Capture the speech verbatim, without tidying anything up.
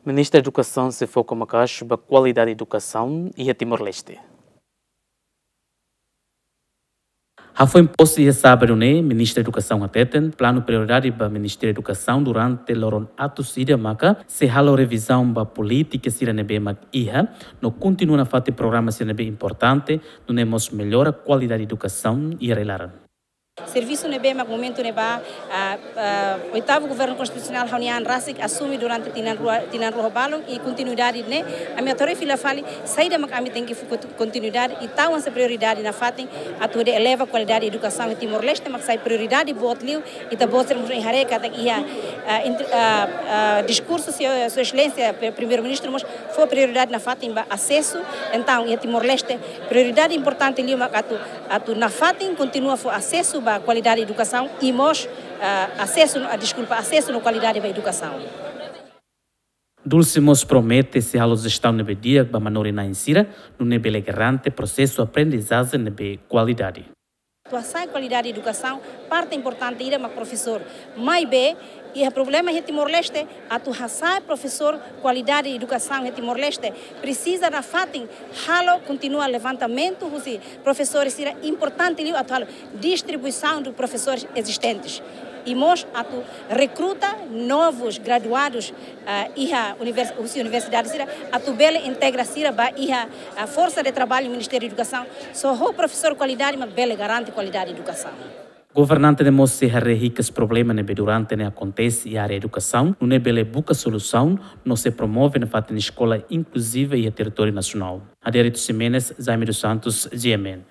Ministra Edukasaun sei foka maka'as ba kualidade edukasaun iha Timor-Leste. Hafoin posse iha sábadu ne'e, Ministra Edukasaun hateten, planu prioridade ba Ministériu Edukasaun durante loron atus ida maka sei halo revizaun ba polítika sira ne'ebé mak iha, no kontinua nafatin programa sira ne'ebé importante, nune'e mós mellora kualidade edukasaun iha rai-laran. Servisu ne'ebé mak momentu ne'ebá, ah, ah, oitavu Governu Konstitusionál ha'u-nia an rasik asume durante tinan rua, tinan rua ho balun i kontinuidade ne'e, ami atu haree fila fali, saida mak ami tenke fó kontinuidade i tau hanesan prioridade nafatin atu hodi eleva kualidade edukasaun iha Timor-Leste mak sai prioridade boot liu, ita-boot sira mós haree katak iha, ah, int-, ah, ah, diskursu Sua, Sua Exelénsia Pri-, Primeiru-Ministru mós fó prioridade nafatin ba asesu, entaun iha Timor-Leste prioridade importante liu mak atu, atu nafatin kontinua fó asesu ba kualidade edukasaun i mós, ah, asesu, ah, deskulpa, asesu no kualidade ba edukasaun. Dulce mós promete sei halo jestaun ne'ebé di'ak ba manorin-na'in sira, nune'e bele garante prosesu aprendizajen ne'ebé kualidade. Atu hasa'e kualidade edukasaun, parte importante ida mak profesór. Maibé, iha problema iha Timor-Leste, atu hasa'e profesór, kualidade edukasaun iha Timor-Leste, presiza nafatin halo, kontinua levantamentu husi profesores sira, importante liu atu halo distribuição dos professores existentes. I mós atu rekruta novos graduados, ah, iha univers-, husi universidade sira, atu bele integra sira ba iha, ah, forsa de traballu Ministériu Edukasaun. Só ho profesór kualidade mak bele garante kualidade edukasaun. Governante ne'e mós sei haree hikas problema ne'ebé durante ne'e akontese iha área edukasaun, nune'e bele buka solusaun, no sei promove nafatin eskola inkluziva iha territóriu nasionál. Adérito Ximenes, Jaime dos Santos, G M N.